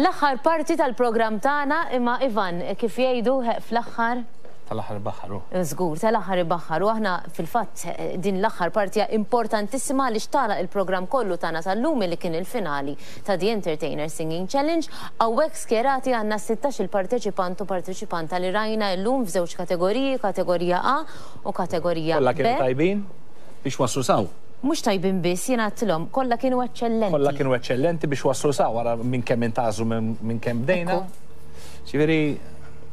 L-aħħar parti tal-programm tagħna imma Ivan, kif jgħidu fl-aħħar? Tal-aħħar ibaħħar hu. Żgur, tal-aħħar ibaħħar u aħna fil-fatt din l-aħħar parti hija importantissima għaliex tagħlaq il-programm kollu tagħna tal-lum li kien il-finali ta' The Entertainer Singing Challenge. Hawnhekk skjerati għandna 16-il parteċipant u parteċipanta li rajna llum f'żewġ kategoriji, kategorija A u kategorija B. Kollha kienu tajbin biex waslu s'hawn. Mhux tajbin biss, jien għedtilhom, kollha kienu eċċellenti. Kollha kienu eċċellenti biex waslu sa wara minn kemm intgħażlu minn kemm bdejna. Ġifieri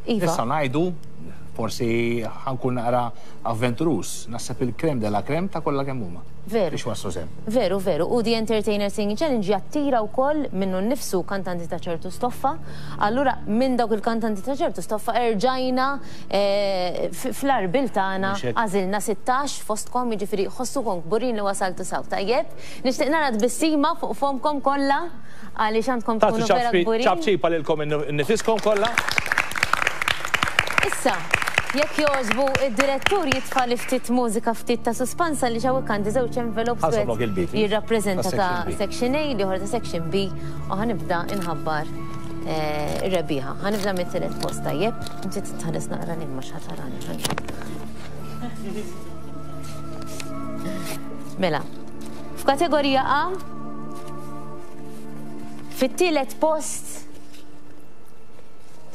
nistgħu ngħidu, forsi ħa nkun naqra avventuruż, naħseb il-crème de la crème ta' kollha kemm huma. Veru. Biex waslu s'hemm. Veru, veru. U The Entertainer Singing Challenge jattira wkoll minnu nnifsu kantanti ta' ċertu stoffa. Allura minn dawk il-kantanti ta' ċertu stoffa erġajna fl-għarbiel tagħna għażilna 16 fostkom, jiġifieri ħossukom kburin li wasaltu s'hawn. Tajjeb? Nixtieq nara tbissima fuq fommkom kollha għaliex għandkom tkunu vera kburin. Ċapċipa lilkom innifiskom kollha. Issa, jekk jogħġbu id-direttur jitfa' li ftit mużika ftit ta' suspansa għaliex hawnhekk għandi żewġ envelopes wieħed jirrappreżenta ta' section A, l-ieħor ta' section B u ħa nibda nħabbar ir-rebbieħa. Ħa nibda mit-tielet post tajjeb? Inti titħares naqra lejn ma x'ħatarani. Mela, f'kategorija A, fit-tielet post,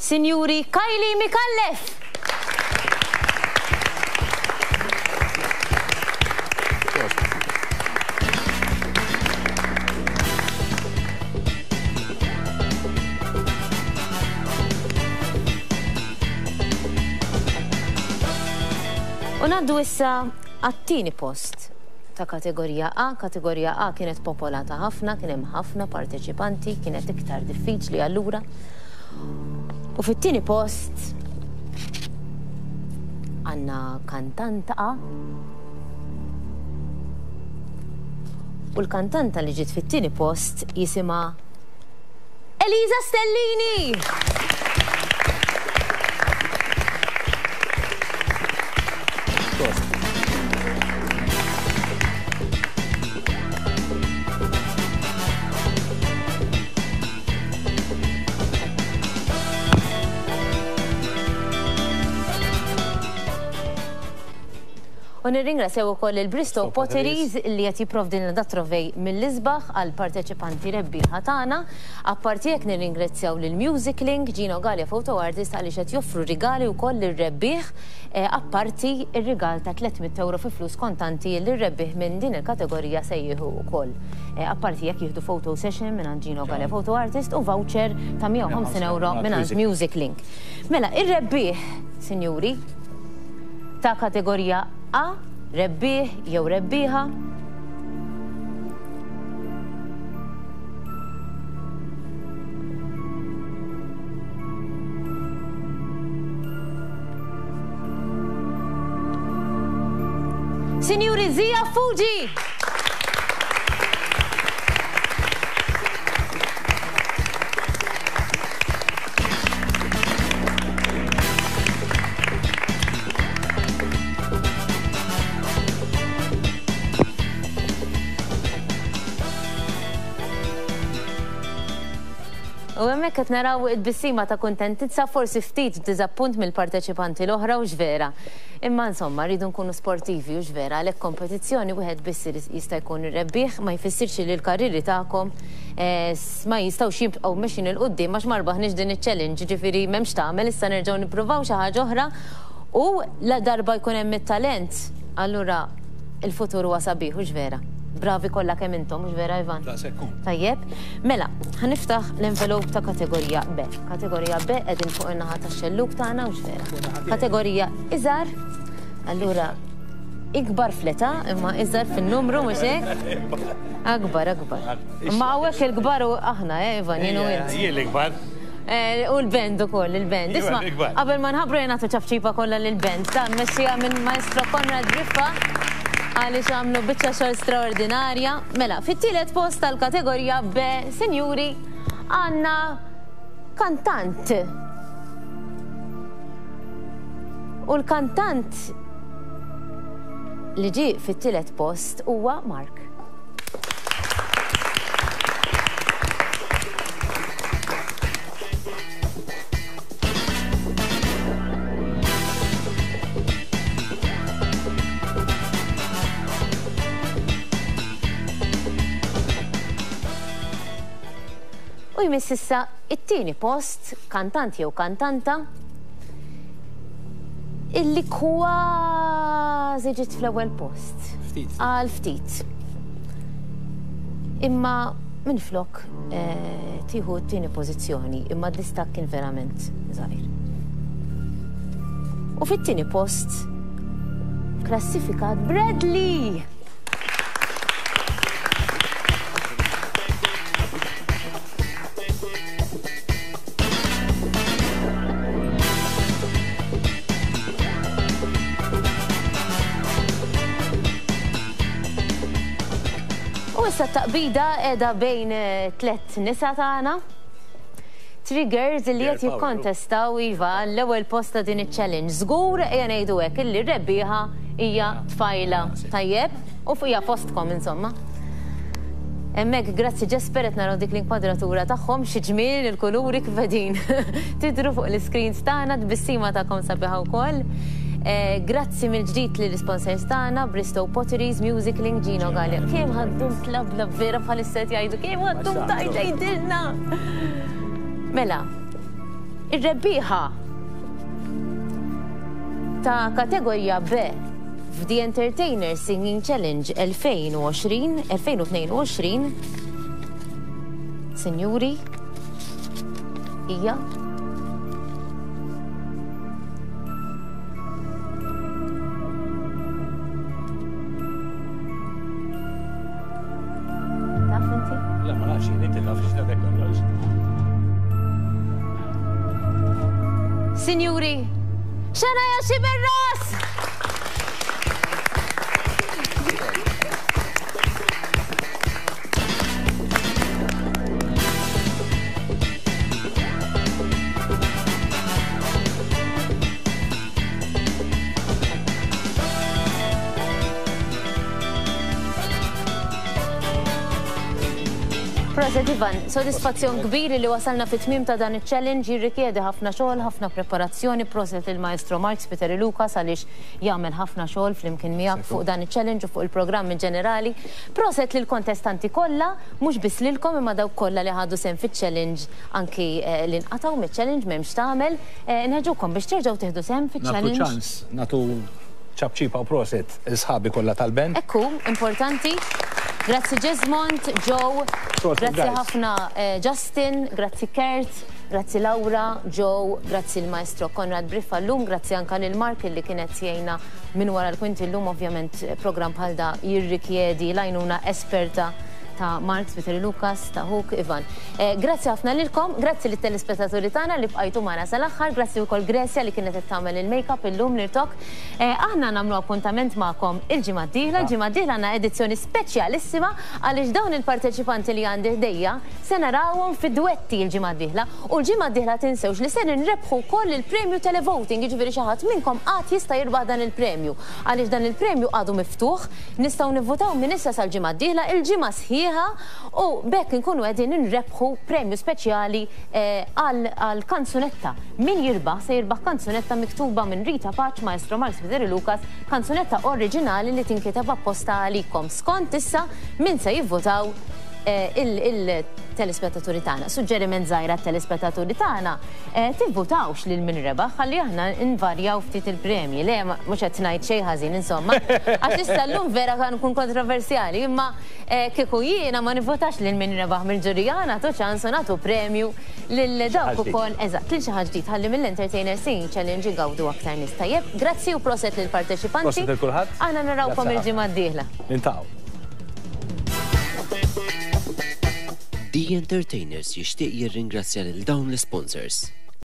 Sinjuri Kylie Micallef! U ngħaddu issa għat-tieni post ta' kategorija A. Kategorija A kienet popolata ħafna, kien hemm ħafna parteċipanti, kienet iktar diffiċli allura. U fit-tieni post għandna kantanta A. U l-kantanta li ġiet fit-tieni post jisimha Elisa Stellini! U nirringrazzjaw ukoll lil Bristow Potteries li qed jipprovdilna dat-trovej mill-isbaħ għall-parteċipanti rebbieħa tagħna. Apparti hekk nirringrazzjaw lil Music Link, Gino Galea Photo Artist għaliex qed joffru rigali wkoll lir-rebbieħ apparti r-rigal ta' 300 ewro fi flus kontanti li r-rebbieħ minn din il-kategorija se jieħu wkoll. Apparti hekk jieħdu photo session mingħand Gino Galea Photo Artist u voucher ta' 150 ewro mingħand Music Link. Mela, ir-rebbieħ, sinjuri, ta' kategorija A, rebbieħ jew rebbieħa. Sinjuri Zia Fuji! U hemmhekk qed naraw it-tbissima ta' kuntentizza, forsi ftit diżappunt mill-parteċipanti l-oħra hux vera. Imma insomma, rridu nkunu sportivi hux vera, għalhekk kompetizzjoni wieħed biss jista' jkun ir-rebbieħ, ma jfissirx li l-karrieri tagħkom ma jistgħux jibqgħu mexjin 'il quddiem għax ma rbaħniex din iċ-challenge, jiġifieri m'hemmx x'tagħmel issa nerġgħu nippruvaw xi ħaġa oħra u la darba jkun hemm it-talent allura il-futur huwa sabiħ hux vera? Bravi kollha kemm intom hux vera Ivan? Daqshekk hu. Tajjeb. Mela, ħa niftaħ l-envelope ta' kategorija B. Kategorija B qegħdin fuq in-naħa tax-xellug tagħna hux vera? Kategorija iżgħar, allura ikbar fl-età imma iżgħar fin-numru mhux hekk? Akbar, akbar. Imma hawnhekk il-kbar u aħna, eh, Ivan, jien u int. Jien l-ikbar. Eh, u l-band ukoll, il-band. Isma' qabel ma nħabbru jien nagħtu ċapċipa kollha lill-band. Ta' mmexxija minn Maestro Konrad Briffa għaliex għamlu biċċa xogħol straordinarja. Mela, fit-tielet post tal-kategorija B, sinjuri, għandna kantant. U l-kantant li ġie fit-tielet post huwa Mark. U jmiss issa it-tieni post, kantant jew kantanta, illi kważi ġiet fl-ewwel post. Ftit. Għal ftit. Imma minflok eh, tieħu t-tieni pożizzjoni, imma d-distakk kien verament żgħir. U fit-tieni post klassifikat Bradley! U issa t-taqbida qiegħda bejn tlett nisa tagħna. Triggers li qed jikkontestaw iva l-ewwel post ta' din iċ-challenge. Żgur ejja ngħidu hekk illi r-rebbieħa hija tfajla. Tajjeb? U hija fostkom insomma. Hemmhekk grazzi Jesper qed naraw dik l-inkwadratura tagħhom xi ġmiel il-kuluri kif qegħdin tidhru fuq l-iscreens tagħna, tbissima tagħkom sabiħa wkoll. Eh, grazzi mill-ġdid lill-isponsors tagħna, Bristow Potteries, Music Link, Gino Gallia. Kemm ħaddum tlablab vera bħalissa qed jgħidu, kemm ħaddum tajt tgħidilna. Mela, ir-rebbieħa ta' kategorija B F'The Entertainer Singing Challenge 2020, 2022, sinjuri, hija Taf inti? Le, ma nafx, inti taf x'nafek kollox. Sinjuri, Xena Xiberras! Proset Ivan, sodisfazzjon kbir li wasalna fit-tmiem ta' dan iċ-challenge jirrikjedi ħafna xogħol, ħafna preparazzjoni, proset il-Maestro Mark Spiteri Lucas għaliex jagħmel ħafna xogħol flimkien miegħek fuq dan iċ-challenge u fuq il-programm in ġenerali. Proset lill-kontestanti kollha, mhux biss lilkom imma dawk kollha li ħadu sehem fiċ-challenge anki li nqatgħu miċ-challenge m'hemmx x'tagħmel. Inħeġġukom biex terġgħu tieħdu sehem fiċ-challenge. Nagħtu ċans, nagħtu ċapċipa u proset 'il sħabi kollha tal-band. Hekk hu, importanti. Grazzi Jesmond, Joe, grazzi ħafna Justin, grazzi Kurt, grazzi Laura, Joe, grazzi l-Maestro Konrad Briffa llum, grazzi anka lil Mark illi kien qed jgħinna minn wara l-kwinti llum, ovvjament programm bħal da jirrikjedi l-għajnuna esperta ta' Mark Spiteri Lucas, ta' ħuk Ivan. Grazzi ħafna lilkom, grazzi lit-telespettaturi tagħna li bqajtu magħna sal-aħħar, grazzi wkoll Grecia li kienet qed tagħmel il-makeup illum l-irtokk. Aħna nagħmlu appuntament magħkom il-ġimgħa d-dieħla. Il-ġimgħa d-dieħla għandna edizzjoni speċjalissima għaliex dawn il-parteċipanti li għandi ħdejja se narawhom fi dwetti l-ġimgħa d-dieħla. U l-ġimgħa d-dieħla tinsewx li ser inrebħu wkoll il-premju televoting, jiġifieri xi ħadd minnkom għad jista' jirbaħ dan il-premju. Għaliex dan il-premju għadu miftuħ, nistgħu nivvutaw minn issa sal-ġimgħa d-dieħla, il-ġimgħa sħiħa u b'hekk inkunu qegħdin inrebħu premju speċjali għal kanzunetta. Min jirbaħ se jirbaħ kanzunetta miktuba minn Rita Pace, Maestro Mark Spiteri Lucas, kanzunetta oriġinali li tinkiteb apposta għalikom. Skont issa min se jivvotaw il-telespettaturi tagħna. Suġġeriment żgħir għat-telespettaturi tagħna, tivvutawx lil min rebaħ ħalli aħna nvarjaw ftit il-premji. Le, mhux qed ngħid xejn ħażin insomma. Għax issa llum vera nkun kontroversjali, imma Kieku jiena ma nivvotax lil min rebaħ mill-ġurija, nagħtu ċans u nagħtu premju lil dawk ukoll, eżatt, lil xi ħadd ġdid ħalli mill-Entertainer Singing Challenge igawdu aktar nies. Tajjeb, grazzi u proset lill-parteċipanti. Proset lil kulħadd. Aħna narawkom il-ġimgħa d-dieħla. Niltaqgħu. The Entertainers jixtieq jirringrazzja lil dawn l-isponsors.